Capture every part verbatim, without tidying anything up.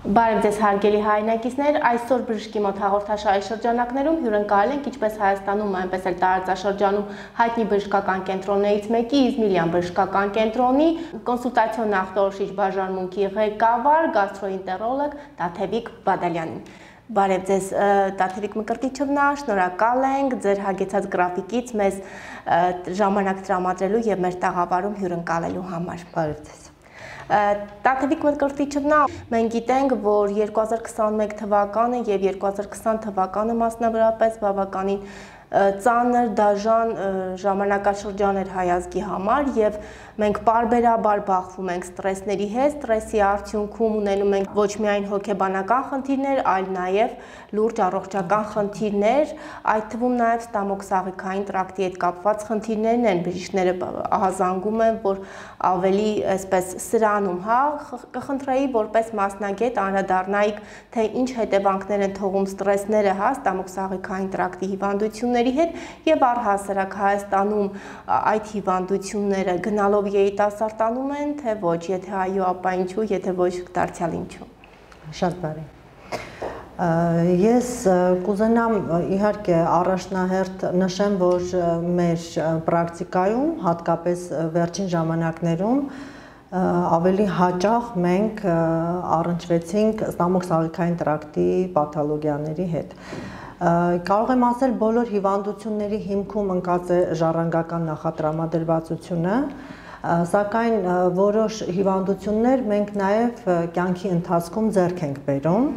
Բարև ձեզ հարգելի հայրենակիցներ, այսօր բժշկի մոտ հաղորդաշարի շրջանակներում հյուրընկալել ենք ինչպես Հայաստանում, այնպես էլ տարածաշրջանում հայտնի բժշկական կենտրոններից մեկի Իզմիլյան բժշկական կենտրոնի կոնսուլտացիոն նախտորոշիչ բաժանմունքի ղեկավար գաստրոենտերոլոգ Տաթևիկ Բադալյանին։ Բարև ձեզ Տաթևիկ Մկրտիչովնա, շնորհակալ ենք ձեր հագեցած գրաֆիկից մեզ ժամանակ տրամադրելու եւ մեր տաղավարում հյուրընկալելու համար։ Բարև ձեզ։ Տաթևիկ Մկրտիչովնա, մենք գիտենք, որ երկու հազար քսաներկու թվականը եւ երկու հազար քսան թվականը մասնավորապես բավականին ծանր դաժան ժամանակաշրջան էր հայ ազգի համար եւ մենք պարբերաբար բախվում ենք ստրեսների հետ, ստրեսի արդյունքում ունենում ենք ոչ միայն հոգեբանական խնդիրներ, այլ նաեւ լուրջ առողջական խնդիրներ, այդ թվում նաեւ ստամոքսաղիքային տրակտի հետ կապված խնդիրներն են։ Բժիշկները ահազանգում են, որ ավելի այսպես սրանում, հա, կխնդրեի որպես մասնագետ անդրադառնայիք, թե ինչ հետևանքներ են թողում ստրեսները, հա, ստամոքսաղիքային տրակտի հիվանդությունների հետ եւ առհասարակ Հայաստանում այդ հիվանդությունները գնալով երիտասարդանում են, թե ոչ, եթե այո, ապա ինչու, եթե ոչ, դարձյալ ինչու։ Շատ բարի։ Ես կուզենամ իհարկե առաջնահերթ նշեմ, որ մեր պրակտիկայում, հատկապես վերջին ժամանակներում ավելի հաճախ մենք առնչվեցինք ստամոքսաղիքային տրակտի պաթոլոգիաների հետ։ Կարող եմ ասել, բոլոր հիվանդությունների հիմքում ընկած է ժառանգական նախատրամադրվածությունը, սակայն որոշ հիվանդություններ մենք նաև կյանքի ընթացքում ձեռք ենք բերում,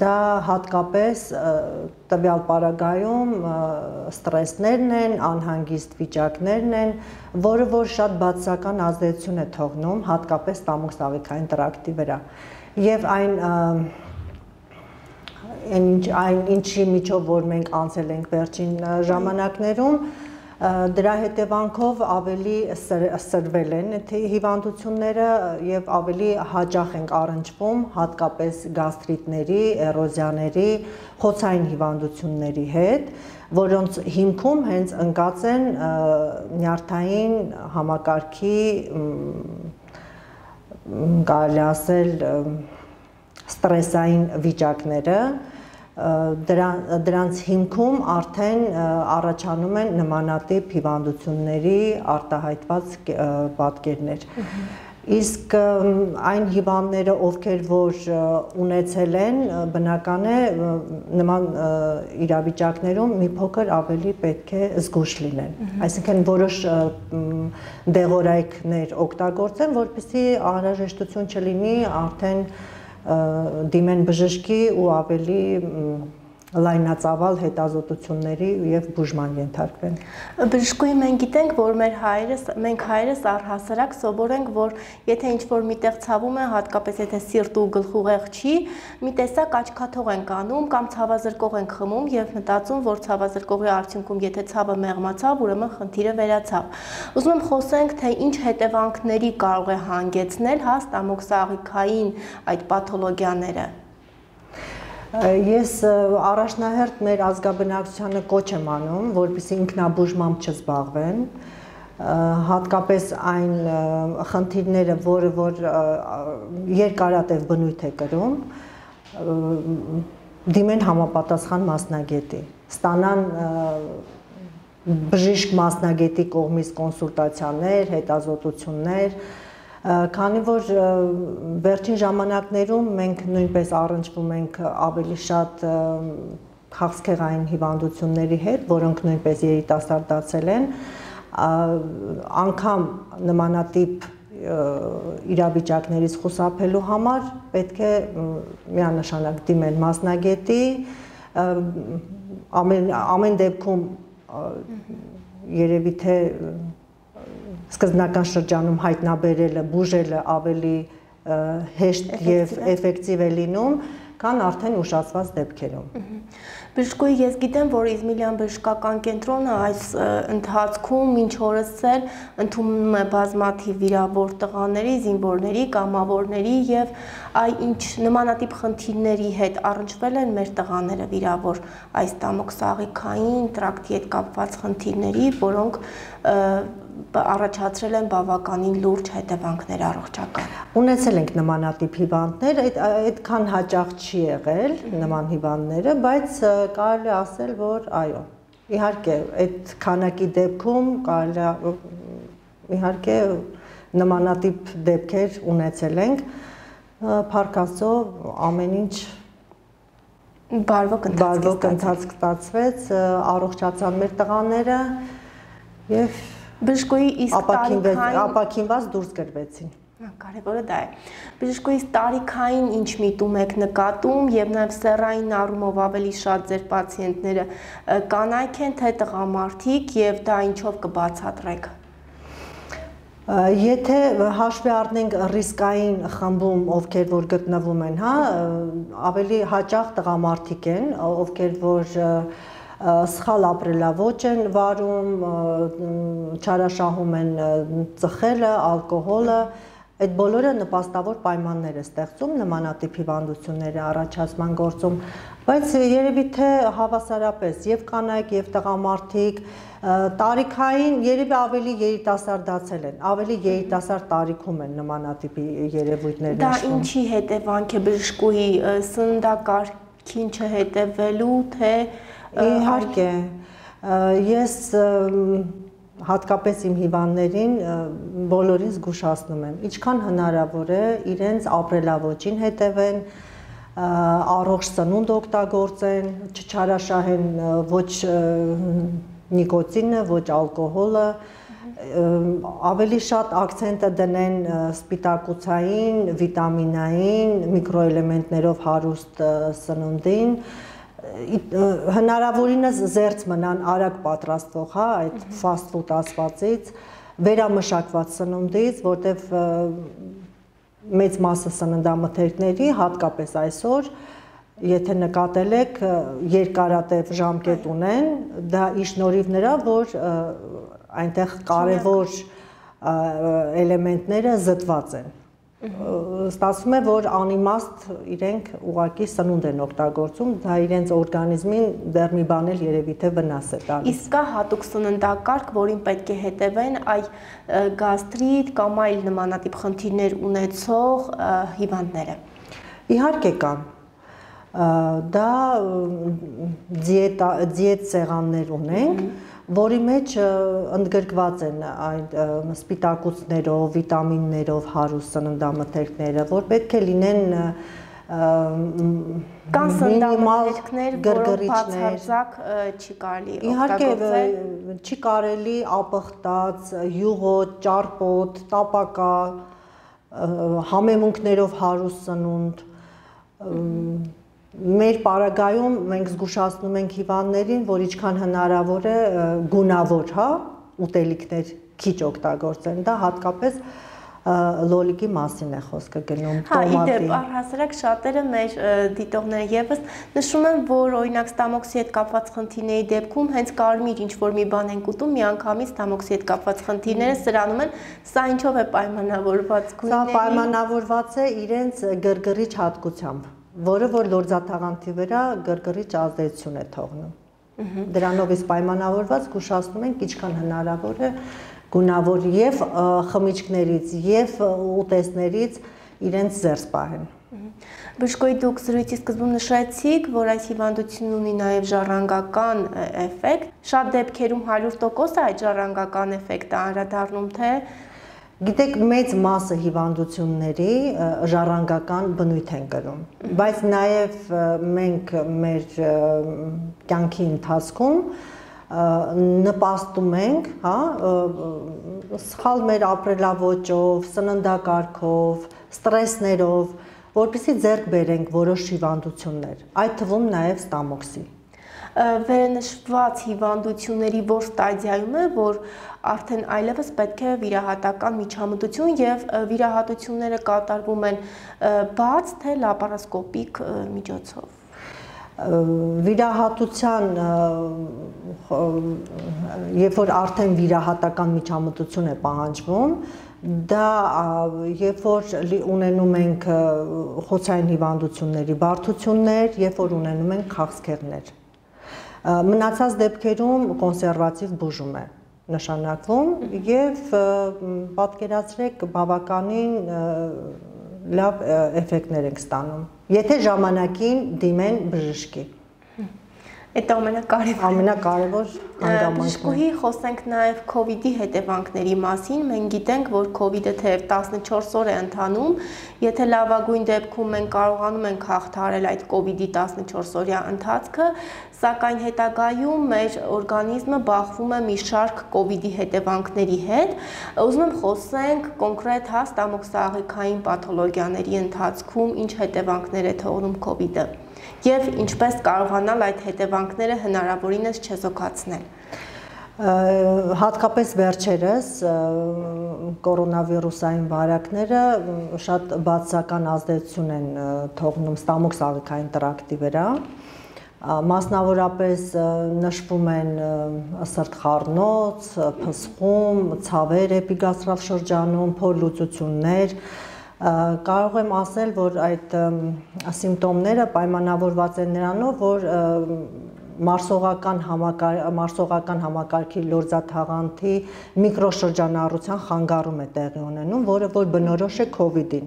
դա հատկապես տվյալ պարագայում ստրեսներն են, անհանգիստ վիճակներն են, որը որ շատ բացասական ազդեցություն է թողնում հատկապես ստամոքսաղիքային տրակտի վրա։ Եվ այն այն ինչի միջով որ մենք անցել ենք վերջին ժամանակներում, դրա հետևանքով ավելի սրվել են հիվանդությունները եւ ավելի հաճախ ենք առնչվում հատկապես գաստրիտների, էրոզիաների, խոցային հիվանդությունների հետ, որոնց հիմքում հենց ընկած են նյարդային համակարգի, կարելի ասել, ստրեսային վիճակները, դրանց հիմքում արդեն առաջանում են նմանատիպ հիվանդությունների արտահայտված պատկերներ։ Իսկ այն հիվանդները, ովքեր որ ունեցել են, բնական է նման իրավիճակներում մի փոքր ավելի պետք է զգույշ լինեն։ Այսինքն որոշ դեղորայքներ օգտագործեն, որպեսզի անհրաժեշտություն չլինի արդեն դիմեն բժշկի ու ավելի լայնածավալ հետազոտությունների եւ բուժման ենթարկվեն։ Բժշկուհի մենք գիտենք, որ մեր հայրս, մենք հայրս առհասարակ սովորենք, որ եթե ինչ-որ միտեղ ցավում է, հատկապես եթե սիրտ ու գլխուղեղ չի, մի տեսակ աչքաթող ենք անում կամ ցավազրկող ենք խմում եւ մտածում, որ ցավազրկողի արդյունքում եթե ցավը մեղմացավ, ուրեմն խնդիրը վերացավ։ Ուզում եմ խոսենք, թե ինչ հետևանքների կարող է հանգեցնել հա ստամոքսաղիքային այդ պաթոլոգիաները։ Ես առաջնահերթ մեր ազգաբնակչությանը կոչ եմ անում, որպեսզի ինքնաբուժմամբ չզբաղվեն, հատկապես այն խնդիրները, որը որ երկարատև բնույթ է կրում, դիմեն համապատասխան մասնագետի, ստանան բժիշկ մասնագետի կողմից կոնսուլտացիաներ, հետազոտություններ, քանի որ վերջին ժամանակներում մենք նույնպես առնչվում ենք ավելի շատ քաղցկեղային հիվանդությունների հետ, որոնք նույնպես երիտասարդացել են, անգամ նմանատիպ իրավիճակներից խուսափելու համար պետք է միանշանակ դիմել մասնագետի, ամեն, ամեն դեպքում երևի թե սկզբնական շրջանում հայտնաբերելը, բուժելը ավելի հեշտ եւ էֆեկտիվ է լինում, քան արդեն ուշացված դեպքերում։ Բժշկուհի, ես գիտեմ, որ Իզմիլյան բժշկական կենտրոնը այս ընթացքում մինչ օրս էլ ընդունում է բազմաթիվ վիրավոր տղաների, զինվորների, կամավորների եւ այ ինչ նմանատիպ խնդիրների հետ առնչվել են մեր տղաները վիրավոր այս ստամոքսաղիքային տրակտի հետ կապված խնդիրների, որոնք առաջացրել են բավականին լուրջ հետևանքներ առողջական։ Ունեցել ենք նմանատիպ հիվանդներ, այդքան հաճախ չի եղել նման հիվանդները, բայց կարելի է ասել, որ այո, իհարկե, այդ քանակի դեպքում կարելի է իհարկե նմանատիպ դեպքեր ունեցել ենք, փառք Աստծո, ամեն ինչ բարվոք ընթացք ստացվեց, առողջացան մեր տղաները եւ բժշկուհի իսկ տարիքային ապակինված դուրս գրվեցին։ Կարևորը դա է։ Բժշկուհի տարիքային ինչ միտում եք նկատում եւ նաեւ սեռային առումով ավելի շատ ձեր պացիենտները կանայք են թե տղամարդիկ եւ դա ինչով կբացատրեք։ Եթե հաշվի առնենք ռիսկային խմբում, ովքեր որ գտնվում են, հա, ավելի հաճախ տղամարդիկ են, ովքեր որ սխալ ապրելաոճ են վարում, չարաշահում են ծխելը, ալկոհոլը, այդ բոլորը նպաստավոր պայմաններ է ստեղծում նմանատիպ հիվանդությունների առաջացման գործում, բայց երևի թե հավասարապես եւ կանայք եւ տղամարդիկ տարիքային երևի ավելի երիտասարդացել են, ավելի երիտասարդ տարիքում են նմանատիպի երևույթներ նշվում։ Դա ինչի հետևանք է բժշկուհի սննդակարգին չհետևելու, թե իհարկե ես հատկապես իմ հիվանդներին բոլորին զգուշացնում եմ, ինչքան հնարավոր է իրենց ապրելաոճին հետևեն, առողջ սնունդ օգտագործեն, չչարաշահեն ոչ նիկոտինը, ոչ ալկոհոլը, ավելի շատ ակցենտը դնեն սպիտակուցային, վիտամինային, միկրոէլեմենտներով հարուստ սնունդին, հնարավորինս զերծ մնան արագ պատրաստվող, հա, այդ fast food ասվածից, վերամշակված սնունդից, որտեվ մեծ մասը սննդամթերքների, հատկապես այսօր, եթե նկատել եք, երկարատև ժամկետ ունեն, դա ի շնորհիվ նրա, որ այնտեղ կարևոր էլեմենտները զտված են։ Ստացվում է, որ անիմաստ իրենք ուղղակի սնունդ են օգտագործում, դա իրենց օրգանիզմին դեռ մի բան էլ երևի թե վնաս է տալիս։ Իսկ կա հատուկ սննդակարգ, որին պետք է հետևեն այ գաստրիտ կամ այլ նմանատիպ խնդիրներ ունեցող հիվանդները։ Իհարկե կան։ Դա դիետ սեղաններ ունենք, որի մեջ ընդգրկված են այդ սպիտակուցներով, վիտամիններով հարուստ սննդամթերքները, որ պետք է լինեն կան սննդամթերքներ, որոնք բացարձակ չի կարելի օգտագործել։ Իհարկե չի կարելի ապխտած, յուղոտ, ճարպոտ, տապակա, համեմունքներով հարուստ սնունդ, մեր պարագայում մենք զգուշացնում ենք հիվանդներին, որ ինչքան հնարավոր է գունավոր, հա, ուտելիքներ քիչ օգտագործեն, դա հատկապես լոլիկի մասին է խոսքը գնում, տոմատի։ Հա, իդեպ առհասարակ շատերը մեր դիտողները եւս նշում են, որ օրինակ ստամոքսի հետ կապված խնդիրների դեպքում հենց կարմիր ինչ-որ մի բան են ուտում, միանգամից ստամոքսի հետ կապված խնդիրները սրանում են, սա ինչով է պայմանավորված գույների։ Սա պայմանավորված է իրենց գրգռիչ հատկությամբ, որը որ լորձաթաղանթի վրա գրգռիչ ազդեցություն է թողնում։ Դրանով իսկ պայմանավորված զգուշացնում ենք ինչքան հնարավոր է գունավոր եւ խմիչքներից եւ ուտեստներից իրենց զերծ պահեն։ Բժշկոյի դուք զրույցի սկզբում նշեցիք, որ այս հիվանդությունն ունի նաև ժառանգական էֆեկտ։ Շատ դեպքերում հարյուր տոկոս է այդ ժառանգական էֆեկտը անդրադառնում, թե Գիտեք, մեծ մասը հիվանդությունների ժառանգական բնույթ են կրում, բայց նաև մենք մեր կյանքի ընթացքում նպաստում ենք, հա, սխալ մեր ապրելաոճով, սննդակարգով, ստրեսներով, որպեսզի ձեռք բերենք որոշ հիվանդություններ, այդ թվում նաև ստամոքսի։ Վերնշված հիվանդությունների որ ստադիայում է, որ արդեն այլևս պետք է վիրահատական միջամտություն եւ վիրահատությունները կատարվում են բաց թե լապարասկոպիկ միջոցով։ Վիրահատության, երբ որ արդեն վիրահատական միջամտություն է պահանջվում, դա երբ որ ունենում ենք խոցային հիվանդությունների բարդություններ, երբ որ ունենում ենք քաղցկեղներ։ Մնացած դեպքերում կոնսերվատիվ բուժում է, նշանակվում եւ պատկերացրեք բավականին լավ էֆեկտներ ենք ստանում, եթե ժամանակին դիմեն բժշկի։ Այդ ամենակարևորը։ Ամենակարևոր հանգամանքն է։ Բժշկուհի խոսենք նաև COVID-ի հետևանքների մասին։ Մենք գիտենք, որ COVID-ը թեև տասնչորս օր է ընթանում, եթե լավագույն դեպքում մենք կարողանում ենք հաղթահարել այդ COVID-ի տասնչորս օրյա ընթացքը, սակայն հետագայում մեր օրգանիզմը բախվում է մի շարք COVID-ի հետևանքների հետ։ Ուզում եմ խոսենք կոնկրետ հա ստամոքսաղիքային պաթոլոգիաների ընթացքում ինչ հետևանքներ է թողնում COVID-ը եւ ինչպես կարողանալ այդ հետևանքները հնարավորինս չեզոքացնել։ Հատկապես վերջերս կորոնավիրուսային վարակները շատ բացասական ազդեցություն են թողնում ստամոքսաղիքային տրակտի վրա, մասնավորապես նշվում են սրտխառնոց, փսխում, ցավեր էպիգաստրալ շրջանում, փորլուծություններ։ Կարող եմ ասել, որ այդ սիմպտոմները պայմանավորված են նրանով, որ մարսողական մարսողական համակարգի լորձաթաղանթի միկրոշրջանառության խանգարում է տեղի ունենում, որը որ բնորոշ է COVID-ին։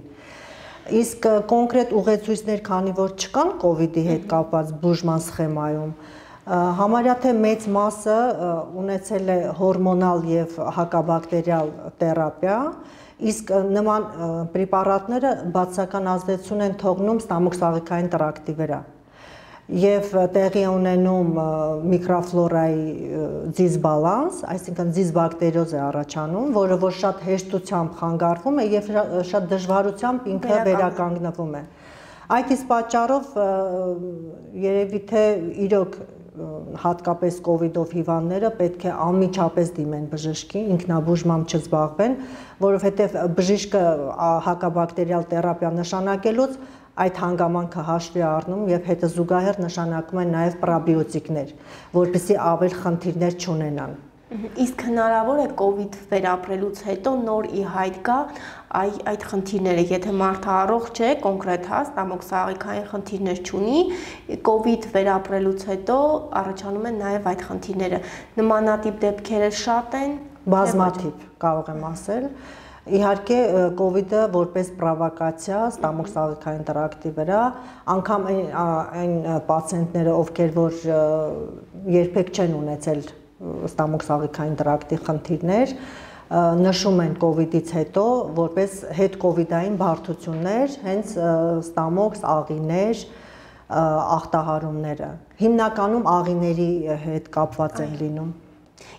Իսկ կոնկրետ ուղեցույցներ, քանի որ չկան COVID-ի հետ կապված բուժման սխեմայում, համարյա թե մեծ մասը ունեցել է հորմոնալ եւ հակաբակտերիալ թերապիա, իսկ նման պրեպարատները բացասական ազդեցություն են թողնում ստամոքսաղիքային տրակտի վրա եւ տեղի ունենում միկրոֆլորայի դիսբալանս, այսինքն դիսբակտերիոզ է առաջանում, որը որ շատ հեշտությամբ խանգարվում է եւ շատ դժվարությամբ ինքը վերականգնվում է։ Այդ իսկ պատճառով երևի թե իրոք հատկապես COVID-ով հիվանդները պետք է անմիջապես դիմեն բժշկի, ինքնաբուժմամբ չզբաղվեն, որովհետև բժիշկը հակաբակտերիալ թերապիա նշանակելուց այդ հանգամանքը հաշվի առնում եւ հետը զուգահեռ նշանակում են նաեւ պրոբիոտիկներ, որպեսզի ավել խնդիրներ չունենան։ Իսկ հնարավոր է COVID վերապրելուց հետո նոր ի հայտ գա այդ խնդիրները, եթե մարդը առողջ է, կոնկրետ հա ստամոքսաղիքային խնդիրներ չունի, COVID վերապրելուց հետո առաջանում են նաև այդ խնդիրները։ Նմանատիպ դեպքերը շատ են, բազմաթիվ կարող եմ ասել։ Իհարկե COVID-ը որպես պրովոկացիա ստամոքսաղիքային տրակտի վրա, անգամ այն պացիենտները, ովքեր որ երբեք չեն ունեցել ստամոքսաղիքային տրակտի խնդիրներ, նշում են COVID-ից հետո որպես հետ-COVID-ային բարդություններ, հենց ստամոքս, աղիներ, ախտահարումները։ Հիմնականում աղիների հետ կապված են լինում։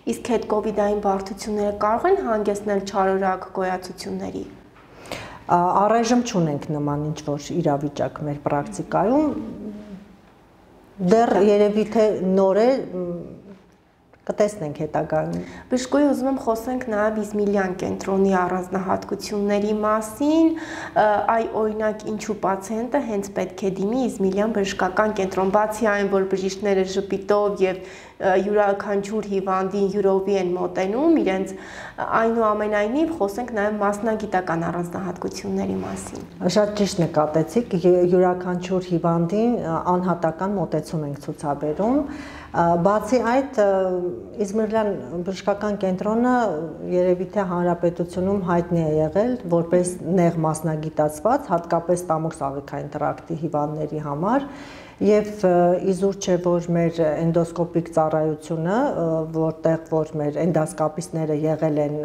Իսկ հետ-COVID-ային բարդությունները կարող են հանգեցնել չարորակ գոյացությունների։ Առայժմ չունենք նման ինչ-որ իրավիճակ մեր պրակտիկայում։ Դեռ երևի թե նոր է, կտեսնենք հետագայում։ Բժշկուհի, ուզում եմ խոսենք նաև Իզմիլյան կենտրոնի առանձնահատկությունների մասին, այ օրինակ ինչու պացիենտը հենց պետք է դիմի Իզմիլյան բժշկական կենտրոն, բացի այն, որ բժիշկները ժպիտով եւ յուրաքանչյուր հիվանդին յուրովի են մոտենում, իրենց այնուամենայնիվ խոսենք նաև մասնագիտական առանձնահատկությունների մասին։ Շատ ճիշտ նկատեցիք, յուրաքանչյուր հիվանդին անհատական մոտեցում ենք ցուցաբերում։ Բացի այդ, Իզմիլյան բժշկական կենտրոնը երևի թե հանրապետությունում հայտնի է եղել որպես նեղ մասնագիտացված, հատկապես ստամոքսաղիքային տրակտի հիվանդների համար, եւ իզուր չէ, որ մեր էնդոսկոպիկ ծառայությունը, որտեղ որ մեր էնդոսկոպիստները եղել են,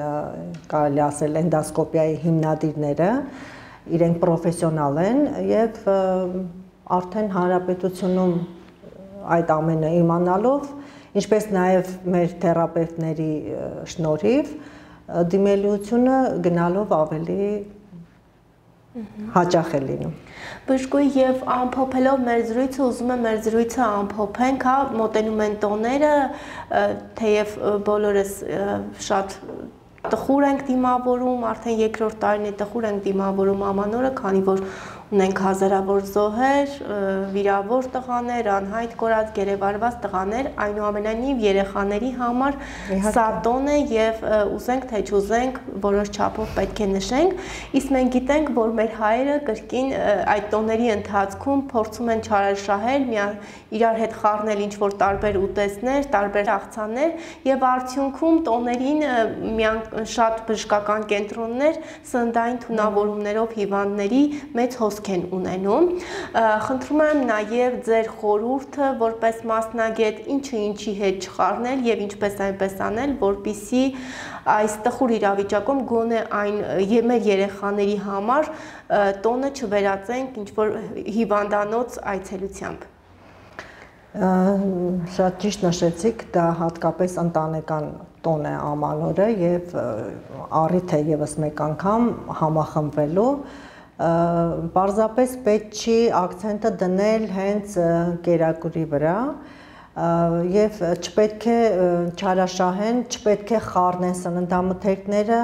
կարելի ասել, էնդոսկոպիայի հիմնադիրները, իրենք պրոֆեսիոնալ են եւ արդեն հանրապետությունում այդ ամենը իմանալով, ինչպես նաև մեր թերապևտների շնորհիվ դիմելիությունը գնալով ավելի հաճախ է լինում։ Բժշկուհի, եւ ամփոփելով մեր զրույցը, ուզում եմ մեր զրույցը ամփոփենք, հա, մոտենում են տոները, թեև բոլորս շատ տխուր ենք դիմավորում, արդեն երկրորդ տարին է տխուր ենք դիմավորում ամանորը, քանի որ ունենք հազարավոր զոհեր, վիրավոր տղաներ, անհայտ կորած, գերեվարված տղաներ, այնուամենայնիվ երեխաների համար սա տոն է եւ ուզենք թե չուզենք որոշ չափով պետք է նշենք, իսկ մենք գիտենք, որ մեր հայերը կրկին այդ տոների ընթացքում փորձում են չարաշահել, իրար հետ խառնել ինչ-որ տարբեր ուտեստներ, տարբեր աղցաններ եւ արդյունքում տոներին շատ բժշկական կենտրոններ սննդային թունավորումներով հիվանդների մեծ հոսք են ունենում։ Խնդրում եմ նաև ձեր խորհուրդը որպես մասնագետ ինչը ինչի հետ չխառնել եւ ինչպես այնպես անել, որպեսզի այս տխուր իրավիճակում գոնե այն մեր երեխաների համար տոնը չվերածենք ինչ-որ հիվանդանոց այցելությամբ։ Շատ ճիշտ նշեցիք, դա հատկապես ընտանեկան տոն է ամանորը եւ առիթ է եւս մեկ անգամ համախմբվելու, պարզապես պետք չի ակցենտը դնել հենց կերակուրի վրա եւ չպետք է չարաշահեն, չպետք է խառնեն սննդամթերքները,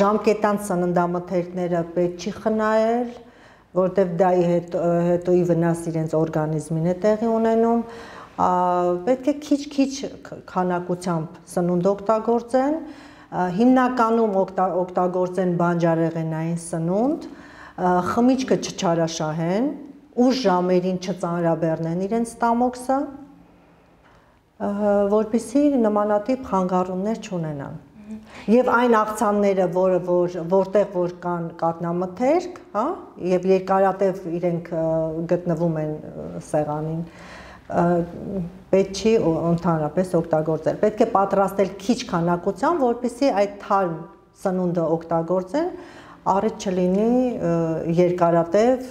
ժամկետանց սննդամթերքները պետք չի խնայել, որտեվ դա հետոյի վնաս իրենց օրգանիզմին է տեղի ունենում, պետք է քիչ-քիչ քանակությամբ սնունդ օգտագործեն, հիմնականում օգտագործեն բանջարեղենային սնունդ, խմիչքը չչարաշահեն, ուշ ժամերին չծանրաբեռնեն իրենց ստամոքսը, որպեսզի նմանատիպ խանգարումներ չունենան։ Եվ այն աղցանները, որտեղ որ կան կաթնամթերք, եւ երկարատև իրենք գտնվում են սեղանին, պետք չի ընդհանրապես օգտագործել։ Պետք է պատրաստել քիչ քանակությամբ, որպեսզի այդ թարմ սնունդը օգտագործեն, առիթ չլինի երկարատև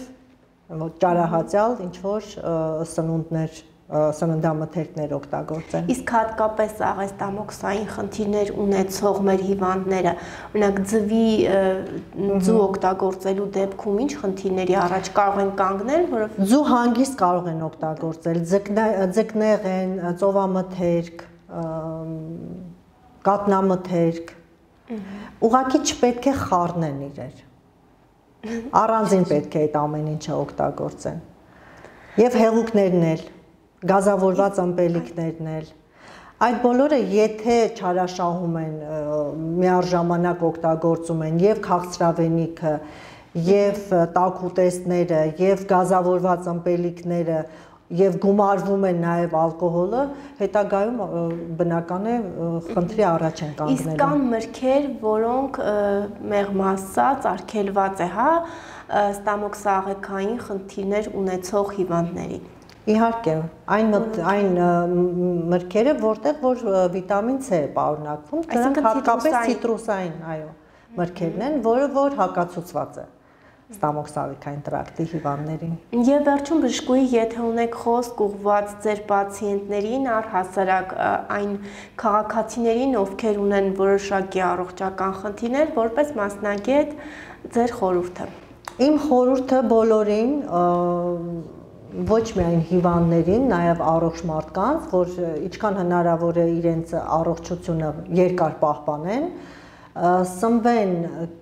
ճարահացյալ ինչ-որ սնունդներ սննդամթերքներ օգտագործեն։ Իսկ հատկապես աղեստամոքսային խնդիրներ ունեցող մեր հիվանդները, օրինակ ձվի ձու օգտագործելու դեպքում ինչ խնդիրների առաջ կարող են կանգնել, որով ձու հանգիստ կարող են օգտագործել, ձկնեղեն, ծովամթերք, կաթնամթերք, ուղղակի չպետք է խառնեն իրեր։ Առանձին պետք է այդ ամեն ինչը օգտագործեն։ Եվ հեղուկներն էլ գազավորված ըմպելիքներն էլ, այդ բոլորը եթե չարաշահում են, միառժամանակ օգտագործում են եւ քաղցրավենիքը, եւ տաք ուտեստները, եւ գազավորված ըմպելիքները, եւ գումարվում են նաեւ ալկոհոլը, հետագայում բնական է խնդրի առաջ են կանգնելու։ Իսկ կան մրգեր, որոնք մեղմ ասած արգելված է, հա, ստամոքսաղեքային խնդիրներ ունեցող հիվանդներին։ Իհարկե, այն մրգերը, որտեղ որ վիտամին C է պարունակվում, դրանք հատկապես ցիտրուսային, այո, մրգերն են, որը որ հակացուցված է ստամոքսաղեքային տրակտի հիվանդներին։ Եվ վերջում բժշկուհի, եթե ունեք խոսք ուղղված ձեր պացիենտներին, առհասարակ այն քաղաքացիներին, ովքեր ունեն որոշակի առողջական խնդիրներ, որպես մասնագետ ձեր խորհուրդը։ Իմ խորհուրդը բոլորին ոչ միայն հիվանդներին, նաև առողջ մարդկանց, որ ինչքան հնարավոր է իրենց առողջությունը երկար պահպանեն, սնվեն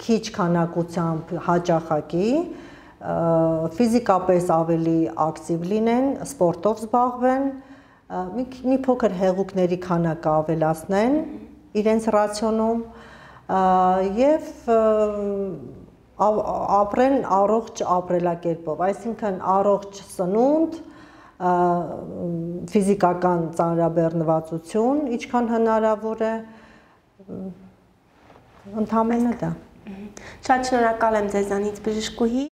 քիչ քանակությամբ հաճախակի, ֆիզիկապես ավելի ակտիվ լինեն, սպորտով զբաղվեն, մի փոքր հեղուկների քանակը ավելացնեն իրենց ռացիոնում եւ ապրեն առողջ ապրելակերպով, այսինքն առողջ սնունդ, ֆիզիկական ծանրաբեռնվածություն, ինչքան հնարավոր է, ընդհանրապես դա։ Շատ շնորհակալ եմ ձեզանից բժշկուհի։